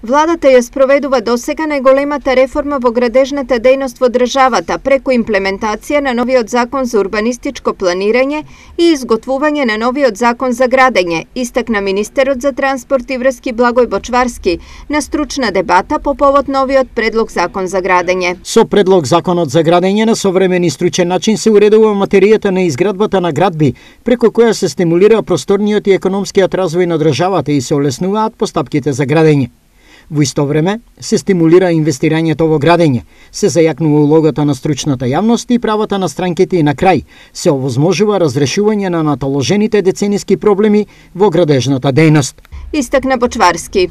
Владата ја спроведува досега најголемата реформа во градежната дејност во државата преку имплементација на новиот закон за урбанистичко планирање и изготвување на новиот закон за градење, истакна министерот за транспорт и врски Благој Бочварски на стручна дебата по повод новиот предлог закон за градење. Со предлог законот за градење на современ и стручен начин се уредува материјата на изградбата на градби, преку која се стимулира просторниот и економскиот развој на државата и се олеснуваат постапките за градење. Во исто време се стимулира инвестирањето во градење, се зајакнува улогата на стручната јавност и правата на странките и на крај се овозможува разрешување на натоложените децениски проблеми во градежната дејност. Истакна Бочварски.